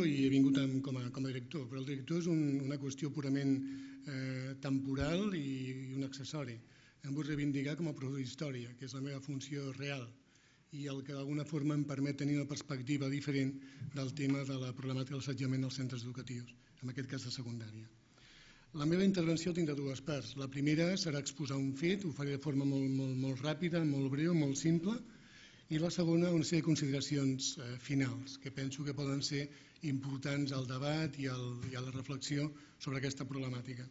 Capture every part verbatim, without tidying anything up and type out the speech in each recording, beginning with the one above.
i he vingut com a director, però el director és una qüestió purament temporal i un accessori. Em vull reivindicar com a professor d'història, que és la meva funció real i el que d'alguna forma em permet tenir una perspectiva diferent del tema de la problemàtica de l'assetjament als centres educatius, en aquest cas de secundària. La meva intervenció tindrà dues parts. La primera serà exposar un fet, ho faré de forma molt ràpida, molt breu, molt simple, i la segona una sèrie de consideracions finals que penso que poden ser importants al debat i a la reflexió sobre aquesta problemàtica.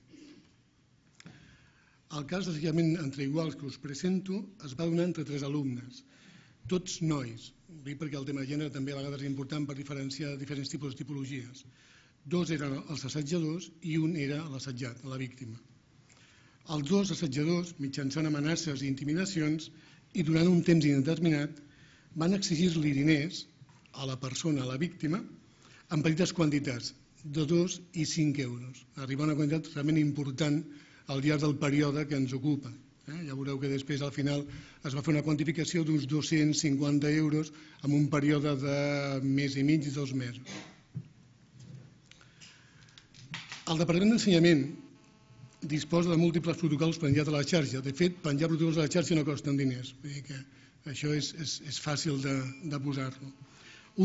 El cas d'assetjament entre iguals que us presento es va donar entre tres alumnes, tots nois, ho dic perquè el tema de gènere també a vegades és important per diferenciar diferents tipus de tipologies. Dos eren els assetjadors i un era l'assetjat, la víctima. Els dos assetjadors, mitjançant amenaces i intimidacions i durant un temps indeterminat, van exigir-li diners a la persona, a la víctima, en petites quantitats, de dos i cinc euros. Arriba a una quantitat realment important al llarg del període que ens ocupa. Ja veureu que després al final es va fer una quantificació d'uns dos-cents cinquanta euros en un període de mes i mig, dos mesos. El Departament d'Ensenyament disposa de múltiples protocols penjats a la xarxa. De fet, penjar protocols a la xarxa no costen diners. Vull dir que això és fàcil de posar-lo.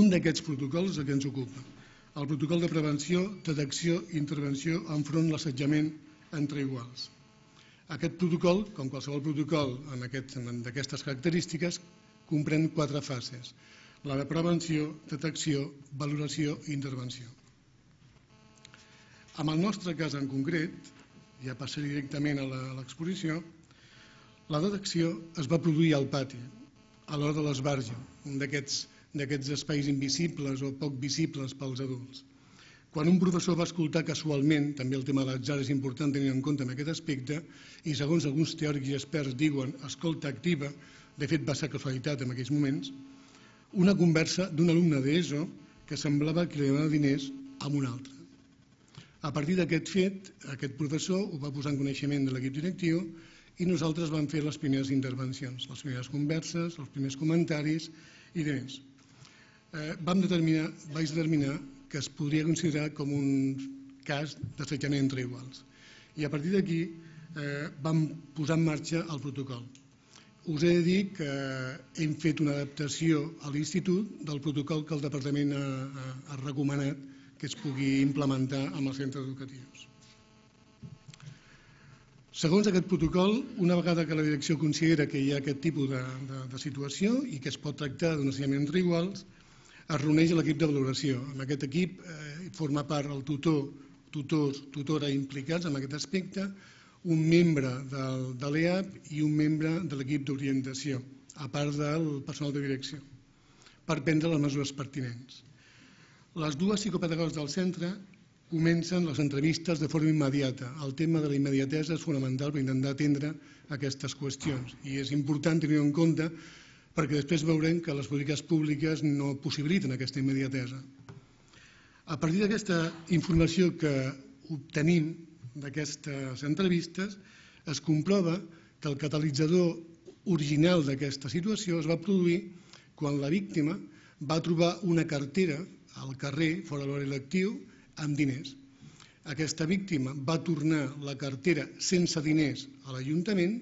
Un d'aquests protocols és el que ens ocupa. El protocol de prevenció, detecció i intervenció enfront de l'assetjament entre iguals. Aquest protocol, com qualsevol protocol d'aquestes característiques, comprèn quatre fases. La de prevenció, detecció, valoració i intervenció. En el nostre cas en concret, ja passaré directament a l'exposició, la detecció es va produir al pati, a l'hora de l'esbarjo, un d'aquests espais invisibles o poc visibles pels adults. Quan un professor va escoltar casualment, també el tema de l'atzar és important tenir en compte en aquest aspecte, i segons alguns teòrics i experts diuen escolta activa, de fet va ser casualitat en aquells moments, una conversa d'un alumne d'ESO que semblava que li demanava diners a un altre. A partir d'aquest fet, aquest professor ho va posar en coneixement de l'equip directiu i nosaltres vam fer les primeres intervencions, les primeres converses, els primers comentaris i demés. Vam determinar, vaig determinar que es podria considerar com un cas d'assetjament entre iguals. I a partir d'aquí vam posar en marxa el protocol. Us he de dir que hem fet una adaptació a l'institut del protocol que el departament ha recomanat que es pugui implementar en els centres educatius. Segons aquest protocol, una vegada que la direcció considera que hi ha aquest tipus de situació i que es pot tractar d'un assetjament entre iguals, es reuneix l'equip de valoració. En aquest equip forma part el tutor, tutors, tutora implicats en aquest aspecte, un membre de l'E A P i un membre de l'equip d'orientació, a part del personal de direcció, per prendre les mesures pertinents. Les dues psicopedagogues del centre comencen les entrevistes de forma immediata. El tema de la immediatesa és fonamental per intentar atendre aquestes qüestions i és important tenir-ho en compte perquè després veurem que les polítiques públiques no possibiliten aquesta immediatesa. A partir d'aquesta informació que obtenim d'aquestes entrevistes es comprova que el catalitzador original d'aquesta situació es va produir quan la víctima va trobar una cartera al carrer, fora l'horari lectiu, amb diners. Aquesta víctima va tornar la cartera sense diners a l'Ajuntament,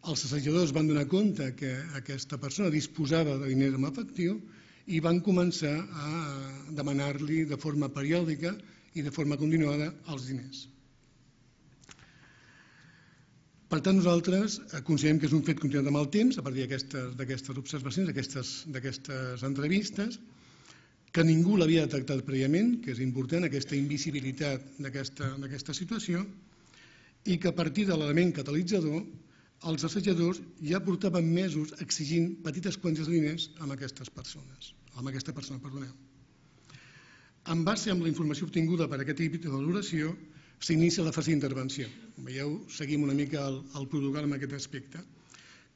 els assajadors van donar compte que aquesta persona disposava de diners en efectiu i van començar a demanar-li de forma periòdica i de forma continuada els diners. Per tant, nosaltres considerem que és un fet continuat amb el temps, a partir d'aquestes observacions, d'aquestes entrevistes, que ningú l'havia detectat prèviament, que és important, aquesta invisibilitat d'aquesta situació, i que a partir de l'element catalitzador, els assajadors ja portaven mesos exigint petites quantitats de diners amb aquestes persones, amb aquesta persona, perdoneu. En base amb la informació obtinguda per aquest equip de valoració, s'inicia la fase d'intervenció. Veieu, seguim una mica el protocol en aquest aspecte,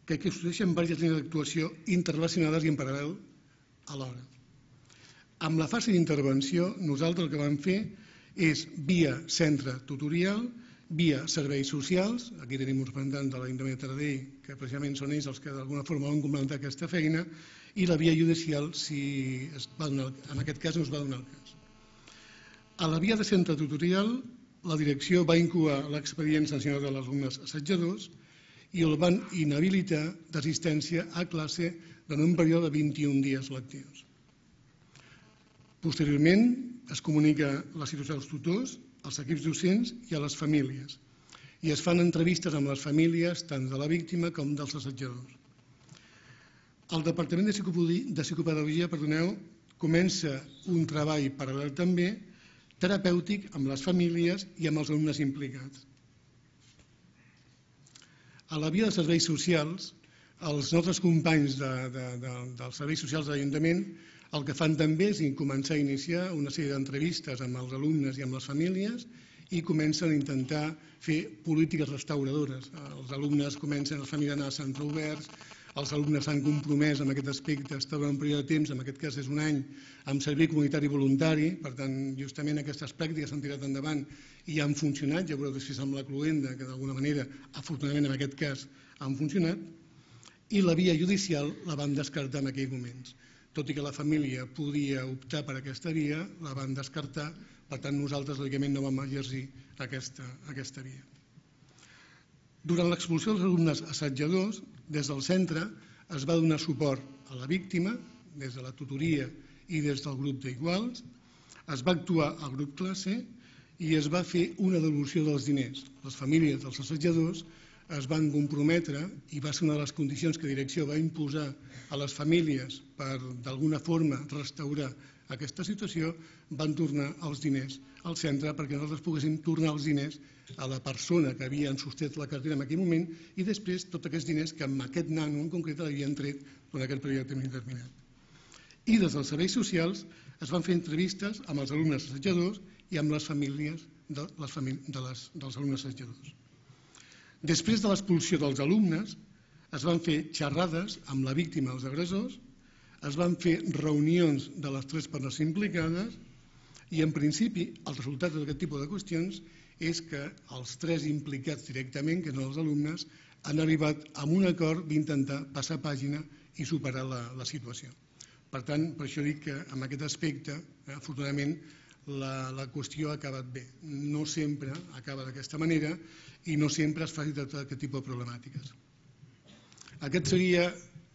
que existeixen diverses línies d'actuació interrelacionades i en paral·lel alhora. Amb la fase d'intervenció, nosaltres el que vam fer és, via centre tutorial, via serveis socials, aquí tenim uns representants de l'Ajuntament de Taradell, que precisament són ells els que d'alguna forma van complementar aquesta feina, i la via judicial, si en aquest cas no es va donar el cas. A la via de centre tutorial, la direcció va incoar l'expedient sancionat dels alumnes assetjadors i el van inhabilitar d'assistència a classe en un període de vint-i-un dies lectius. Posteriorment, es comunica la situació als tutors, als equips docents i a les famílies, i es fan entrevistes amb les famílies tant de la víctima com dels assetjadors. El Departament de Psicopedagogia, perdoneu, comença un treball paral·lel també terapèutic amb les famílies i amb els alumnes implicats. A la via de serveis socials, els nostres companys de, de, de, dels serveis socials de l'Ajuntament el que fan també és començar a iniciar una sèrie d'entrevistes amb els alumnes i amb les famílies i comencen a intentar fer polítiques restauradores. Els alumnes comencen, les famílies a anar a centres oberts, els alumnes s'han compromès en aquest aspecte, estar durant un període de temps, en aquest cas és un any, amb servei comunitari voluntari, per tant, justament aquestes pràctiques s'han tirat endavant i han funcionat, ja veureu després amb la cloenda, que d'alguna manera, afortunadament en aquest cas, han funcionat, i la via judicial la vam descartar en aquells moments. Tot i que la família podia optar per aquesta via, la van descartar, per tant, nosaltres, lògicament, no vam exercir aquesta, aquesta via. Durant l'expulsió dels alumnes assetjadors, des del centre es va donar suport a la víctima, des de la tutoria i des del grup d'iguals, es va actuar al grup classe i es va fer una devolució dels diners. Les famílies dels assetjadors es van comprometre i va ser una de les condicions que la direcció va imposar a les famílies per d'alguna forma restaurar aquesta situació, van tornar els diners al centre perquè nosaltres poguéssim tornar els diners a la persona que havia sostet la cartera en aquell moment i després tots aquests diners que amb aquest nano en concret l'havien tret durant aquell període de temps indeterminat. I des dels serveis socials es van fer entrevistes amb els alumnes assetjadors i amb les famílies de les famí de les, dels alumnes assetjadors. Després de l'expulsió dels alumnes es van fer xerrades amb la víctima dels agressors, es van fer reunions de les tres parts implicades i en principi el resultat d'aquest tipus de qüestions és que els tres implicats directament, que són els alumnes, han arribat a un acord d'intentar passar pàgina i superar la, la situació. Per tant, per això dic que en aquest aspecte, eh, afortunadament, la, la qüestió ha acabat bé. No sempre acaba d'aquesta manera i no sempre es fa tot aquest tipus de problemàtiques. Aquest seria,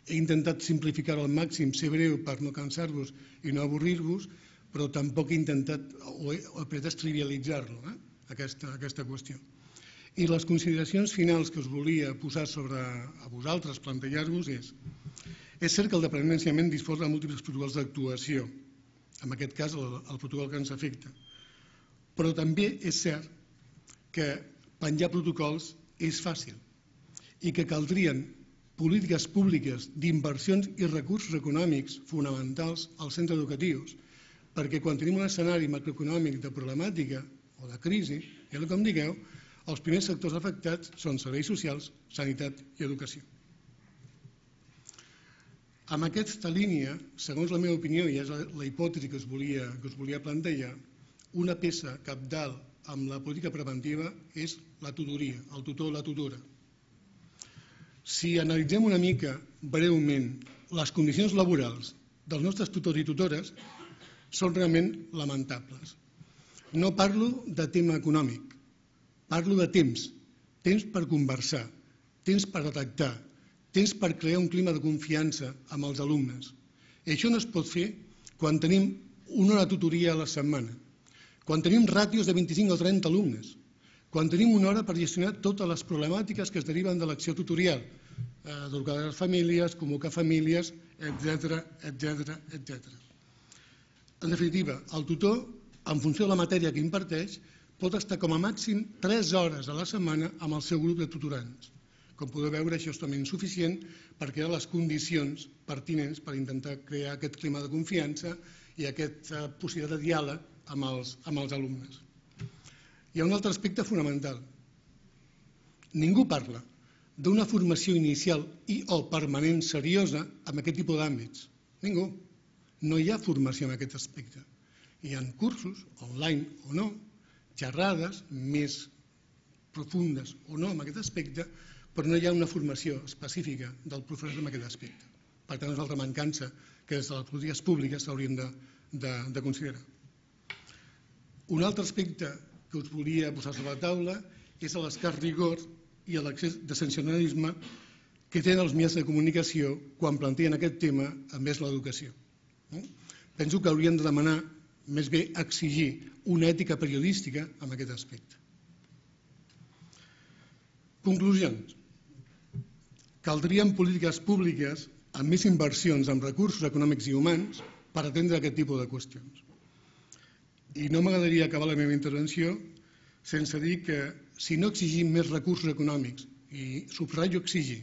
he intentat simplificar-ho al màxim, ser breu per no cansar-vos i no avorrir-vos, però tampoc he intentat o he, o he pretès trivialitzar-lo, eh? Aquesta, aquesta qüestió. I les consideracions finals que us volia posar sobre a vosaltres, plantejar-vos és és cert que el Departament d'Ensenyament disposa de múltiples protocols d'actuació, en aquest cas el, el protocol que ens afecta, però també és cert que penjar protocols és fàcil i que caldrien polítiques públiques d'inversions i recursos econòmics fonamentals als centres educatius, perquè quan tenim un escenari macroeconòmic de problemàtica o de crisi, ja com digueu, els primers sectors afectats són serveis socials, sanitat i educació. Amb aquesta línia, segons la meva opinió, i és la hipòtesi que us volia, que us volia plantejar, una peça cabdal amb la política preventiva és la tutoria, el tutor o la tutora. Si analitzem una mica breument les condicions laborals dels nostres tutors i tutores, són realment lamentables. No parlo de tema econòmic, parlo de temps, temps per conversar, temps per detectar, temps per crear un clima de confiança amb els alumnes. I això no es pot fer quan tenim una hora de tutoria a la setmana, quan tenim ràtios de vint-i-cinc o trenta alumnes, quan tenim una hora per gestionar totes les problemàtiques que es deriven de l'acció tutorial, educar les famílies, convocar famílies, etcètera, etcètera, etcètera. En definitiva, el tutor, en funció de la matèria que imparteix, pot estar com a màxim tres hores a la setmana amb el seu grup de tutorants. Com podeu veure, això és totalment insuficient per crear les condicions pertinents per intentar crear aquest clima de confiança i aquesta possibilitat de diàleg amb els, amb els alumnes. Hi ha un altre aspecte fonamental. Ningú parla d'una formació inicial i o permanent seriosa en aquest tipus d'àmbits. Ningú. No hi ha formació en aquest aspecte. Hi ha cursos, online o no, xerrades més profundes o no en aquest aspecte, però no hi ha una formació específica del professor en aquest aspecte. Per tant, és una altra mancança que des de les polítiques públiques s'haurien de, de, de considerar. Un altre aspecte que us volia posar sobre la taula és l'escàs rigor i l'excés de sensacionalisme que tenen els mitjans de comunicació quan plantegen aquest tema envers l'educació. Penso que hauríem de demanar, més bé exigir, una ètica periodística en aquest aspecte. Conclusions. Caldrien polítiques públiques amb més inversions en recursos econòmics i humans per atendre aquest tipus de qüestions. I no m'agradaria acabar la meva intervenció sense dir que si no exigim més recursos econòmics, i subratllo exigir,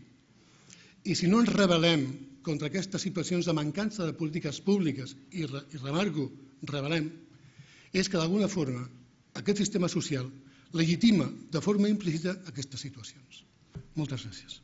i si no ens rebel·lem contra aquestes situacions de mancança de polítiques públiques, i remarco, rebel·lem, és que d'alguna forma aquest sistema social legitima de forma implícita aquestes situacions. Moltes gràcies.